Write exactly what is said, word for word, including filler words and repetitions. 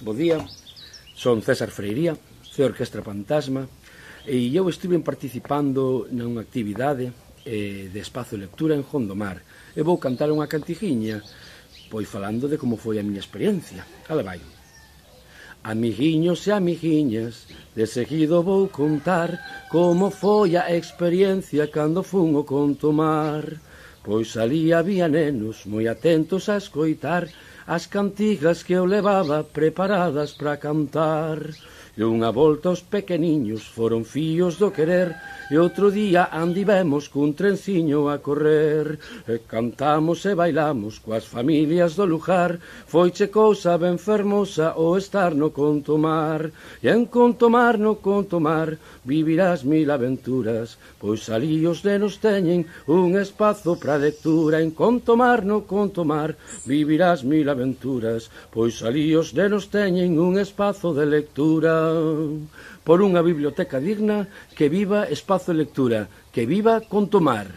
Bo día, son César Freiría, de Orquestra Fantasma, e eu estive participando nunha actividade eh, de espazo de lectura en Gondomar, e vou cantar unha cantigiña, pois falando de como foi a miña experiencia. Ala vai. Amiguiños e amiguiñas, de seguido vou contar como foi a experiencia cando fun ao Contomar. Pois ali había nenos moi atentos a escoitar as cantigas que eu levaba preparadas para cantar. E unha volta os pequeniños foron fíos do querer, e outro día andivemos cun trenciño a correr. E cantamos e bailamos coas familias do lugar, foiche cousa ben fermosa o estar no Contomar. E en Contomar, no Contomar, vivirás mil aventuras, pois ali os nenos teñen un espazo para lectura. En Contomar, no Contomar, vivirás mil aventuras, pois ali os nenos teñen un espazo de lectura. Por unha biblioteca digna, que viva espazo de lectura, que viva Contomar.